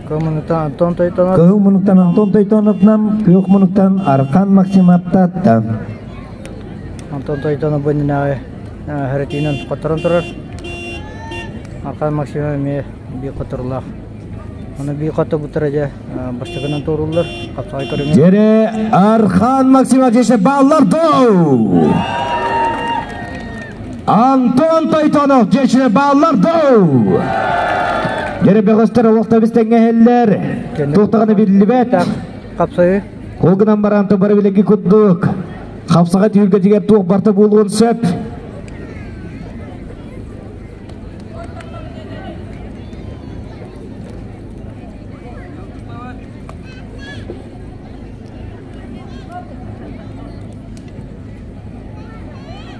Коммуниктан Антон Тойтонов. Коммуниктан Антон Тойтонов нам, Коммуниктан Аркан Максим Аптатта. Антон Тойтонов бөнүнө харатинен которон турар. Аркан Максим ме би которлак. Аны би кото бутыража баштыгынан турулар. Капсай көрүнгөн. Жере Аркан Максим Ажеше баллар доо. Антон Тойтонов жешине баллар доо. Жере бегостер олукта бистеңгелер. Токтогону бирилбет. Капсай. Колгунан баранты бары билеги куттук. Капсага түйүлгө жигер тук барты болгон сөп.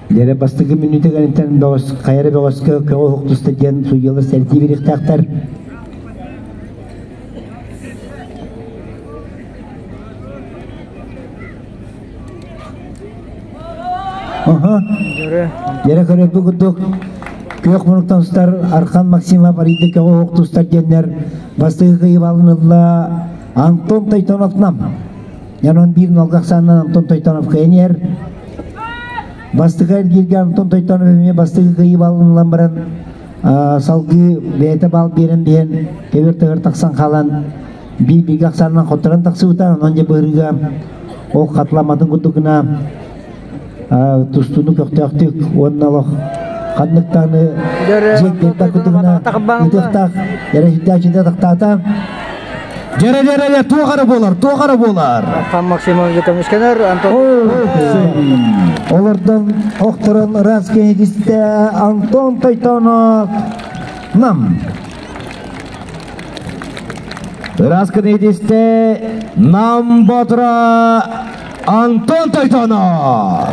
Жере бастыгы минуты ганитен богос кайры богоска кого хуктуста ден суйылыр серти бирихтактар. Жере көрөктү куттук. Көк мунуктан устар Аркан Максимов ариде кого хуктустар денер бастыгы кыйып алынылла Антон Тойтонов нам. Янон бир нолгаксанан Антон Тойтонов кыйнер. Бастыгы келген Антон Тойтонов эме бастыгы кыйып алынылан баран салгы бете бал берен ден тебер таксан калан бир гаксанан которон таксыбыта анан же бырыга ол катламадын кутугуна тустуну көктөктүк оннало кандыктаны жек кутугуна үтөктак ярашыдачында тактата Жере тугары болар. Аркан Максимов жекемишкенер Антон. Олардан окторон Раскенедисте Антон Тойтонов нам. Раскенедисте нам ботра Антон Тойтонов.